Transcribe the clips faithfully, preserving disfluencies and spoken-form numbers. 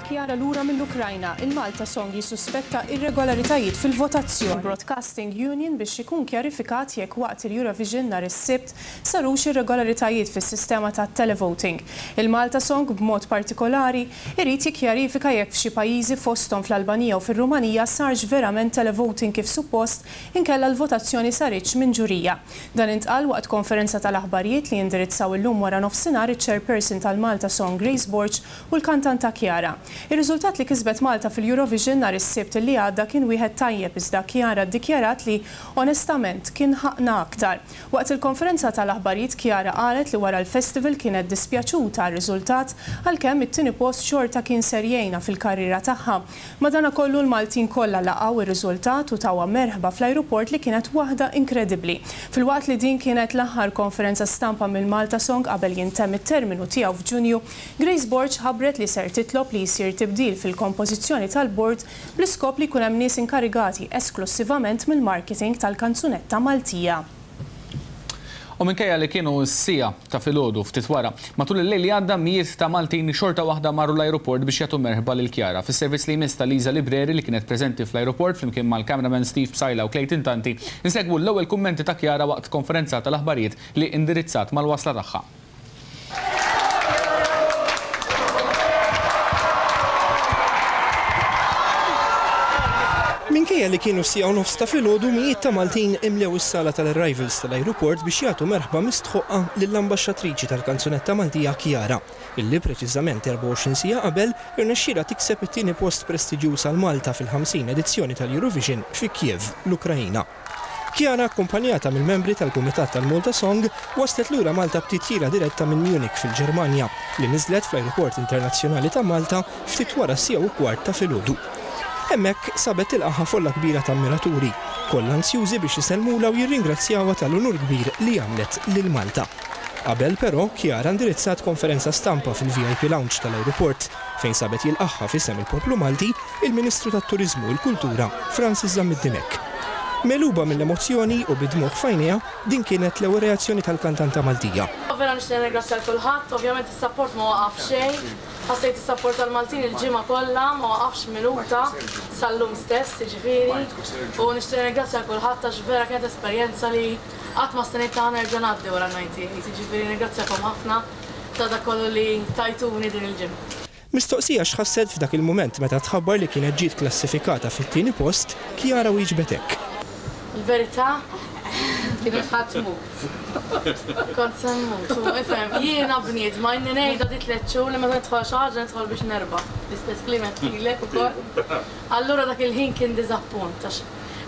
Chiara lura mill-Ukrajna, il-Malta Song jissuspetta irregolaritajiet fil-votazzjoni. Broadcasting Union biex ikun kjarifikat jekk waqt il-Eurovision nhar is-Sibt sarux irregolaritajiet fis-sistema ta' televoting. Il-Malta Song b'mod partikolari irid jikkjarifika jekk f'xi pajjiżi, fosthom fl-Albanija u fir-Rumanija, sarx verament televoting kif suppost inkella l-votazzjoni saritx minn ġurija. Dan intqal waqt konferenza tal-aħbarijiet li indirizzaw illum wara nofsinhar iċ-chairperson tal-Malta Song Grace Borg u l-kantanta Chiara. Ir-riżultat li kisbet Malta fil-Eurovision nhar is-Sibt li għadda kien wieħed tajjeb, iżda Chiara ddikjarat li onestament kien ħaqna aktar. Waqt il-konferenza tal-aħbarijiet, Chiara qalet li wara l-festival kienet dispjaċuta għar-riżultat, għalkemm it-tieni post xorta kien ser jgħinha fil-karriera tagħha. Madanakollu l-Maltin kollha laqgħu ir-riżultat u tawha merħba fl-ajruport li kienet waħda inkredibbli. Filwaqt li din kienet l-aħħar konferenza stampa mill-Malta Song qabel jintemm it-terminu tiegħu f'Ġunju, Grace Borg ħabbret li ser titlob li jsir tibdil fil-kompożizzjoni tal-bord bl-iskop li jkun hemm nies inkarigati esklusivament mill-marketing tal-kanzunetta Maltija. U minkejja li kienu s-siegħa ta' filgħodu ftit wara, matul il-lejl li għadda mijiet ta' Maltin xorta waħda marru l-ajruport biex jagħtu merħba lil Chiara. Fis-servizz li jmiss ta' Liza Libreri, li kienet preżenti fl-ajruport flimkien mal-cameraman Steve Psaila u Clayton Tanti, insegwu l-ewwel kummenti ta' Chiara waqt konferenza tal-aħbarijiet li indirizzat mal-wasla tagħha. Minkejja li kienu siegħa u nofs ta' filgħodu, mijiet ta' Maltin imlew is-sala tal-arrivals tal-ajruport biex jagħtu merħba mistħoqqa lill-ambaxxatriċi tal-kanzunetta Maltija Chiara, illi preċiżament erbgħa u għoxrin siegħa qabel irnexxielha tikseb it-tieni post prestiġjuż għal Malta fil-ħamsin edizzjoni tal-Eurovision fi Kiev, l-Ukrajina. Chiara, akkumpanjata mill-membri tal-Kumitat tal-Malta Song, waslet lura Malta b'titjira diretta minn Munich fil-Ġermanja, li niżlet fl-Ajruport Internazzjonali ta' Malta ftit wara siegħa u kwart ta' filgħodu. Hemmhekk sabet tilqaha folla kbira ta' ammiraturi, kollha ansjużi biex isellmulha u jirringrazzjawha tal-unur kbir li għamlet lil Malta. Qabel però, Chiara indirizzat konferenza stampa fil-V I P Lounge tal-ajruport, fejn sabet jilqaħħa f'isem il-poplu Malti il-Ministru tat-Turiżmu u l-Kultura Francis Zammit Dimech. Megħluba mill-emozzjoni u bid-dmugħ f'għajnejha, din kienet l-ewwel reazzjoni tal-kantanta Maltija. Vera nixtieq nirringrazzja lil kulħadd, ovvjament is-support ma waqaf xejn. Ħassejt is-support tal-Maltin il-ġimgħa kollha, ma waqafx minuta sal-lum stess, jiġifieri. U nixtieq nirringrazzja lil kulħadd għax vera kienet esperjenza li qatt ma stennejt ta' nerġa' ngħaddi wara ddisgħa u disgħin, jiġifieri nirringrazzjakom ħafna ta' dak kollu li tajtuni din il-ġimgħa. Mistoqsija x'ħasset f'dak il-mument meta tħabbar li kienet ġiet klassifikata fit-tieni post, Chiara wieġbet hekk. Il-verità kienet ħa tmut. Kont se mmut, u ifhem, jiena bniedma inni ngħidha di tliet xhur li meta nidħol xi ħaġa nidħol biex nerbaħ. L-istess kliem għedtilek ukoll. Allura dak il-ħin kien diżappunt, għax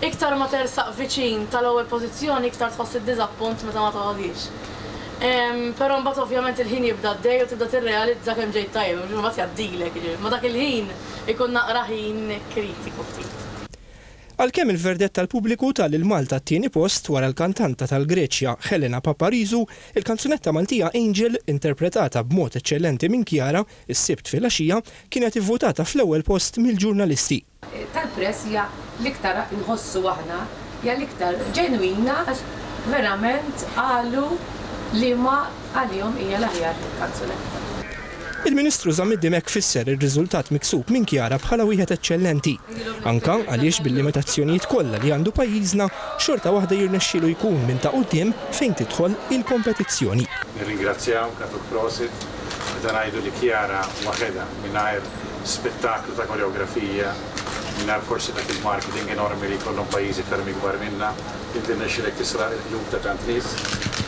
iktar ma tersaq viċin tal-ewwel pożizzjoni, iktar tħoss id-diżappunt meta ma toħodix. Però mbagħad ovvjament il-ħin jibda għaddej u tibda tirrealizza kemm ġejt tajjeb, u mbagħad jgħaddilek, jiġifieri. Ma dak il-ħin ikun naqra ħin kritiku ftit. Għalkemm il-verdett tal-pubbliku ta lil Malta t-tieni post wara l-kantanta tal-Greċja Helena Paparizou, il-kanzunetta Maltija Angel, interpretata b'mod eċċellenti minn Chiara is-Sibt filgħaxija, kienet ivvutata fl-ewwel post mill-ġurnalisti. Tal-press hija l-iktar nħossu aħna, hija l-iktar ġenwina, għax verament qalu li ma għalihom hija l-aħjar kanzunetta. Il-Ministru Zammit Dimech fisser ir-riżultat miksub minn Chiara bħala wieħed eċċellenti, anka għaliex bil-limitazzjonijiet kollha li għandu pajjiżna xorta waħda jirnexxielu jkun minn ta' quddiem fejn tidħol il-kompetizzjoni. Nirringrazzjaw, nagħtuk prosit, meta ngħidu li Chiara waħedha, mingħajr spettaklu ta' koreografija, mingħajr forsi dak il-marketing enormi li jkollhom pajjiżi ferm ikbar minna, inti rnexxielek tisraq il-qlub ta' tant nies,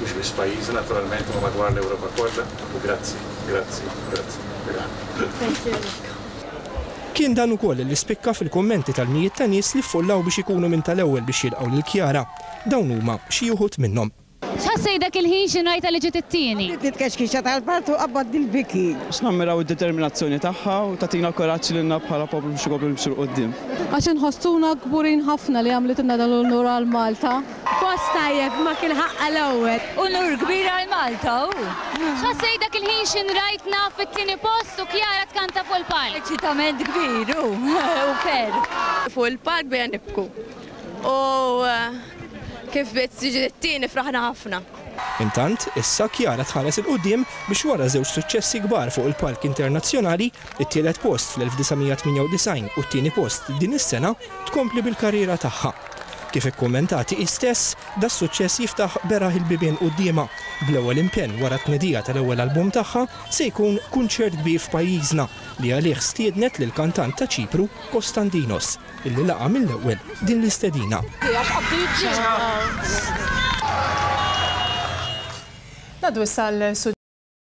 mhux biss pajjiżna naturalment, ma madwar l-Ewropa kollha, u grazzi, grazzi, grazzi. Thank you. Kien dan ukoll li spikka fil-kummenti tal-mijiet ta' nies li ffollaw biex ikunu minn tal-ewwel biex jilqgħu lil Chiara. Dawn huma xi wħud minnhom. X'ħassejt dak il-ħin xi rajtha li ġiet it-tieni? Nitkexkixa tal-partu qabad il-biki. X'nammiraw id-determinazzjoni tagħha u tagħtina kuraġġ lilna bħala poplu biex ikomplu nimxu 'l quddiem. Għax inħossuna kburin ħafna li għamlitilna dan l-unur għal Malta. Post tajjeb, ma kien ħaqqa l-ewwel. Unur kbir għal Malta u. X'ħassejt dak il-ħin xi rajtna fit-tieni post u Chiara tkanta fuq il-palk? Eċitament kbir u u ferħ. Fuq il-palk bdejna nibku. U kif bdiet tiġi t-tieni fraħna ħafna. Intant, issa Chiara tħares 'il quddiem biex wara żewġ suċċessi kbar fuq il-palk internazzjonali, it-tielet post fl-elf disa' mija tmienja u disgħin u t-tieni post din is-sena, tkompli bil-karriera tagħha. Kif ikkummentat hi stess, das-suċċess jiftaħ beraħ il-bibien quddiemha, bl-ewwel impenn wara t-tnedija tal-ewwel album tagħha se jkun kunċert kbir f'pajjiżna li għalih stiednet lill-kantant ta' Ċipru Kostandinos, illi laqa' mill-ewwel din l-istedina. Ngħaddu issa għal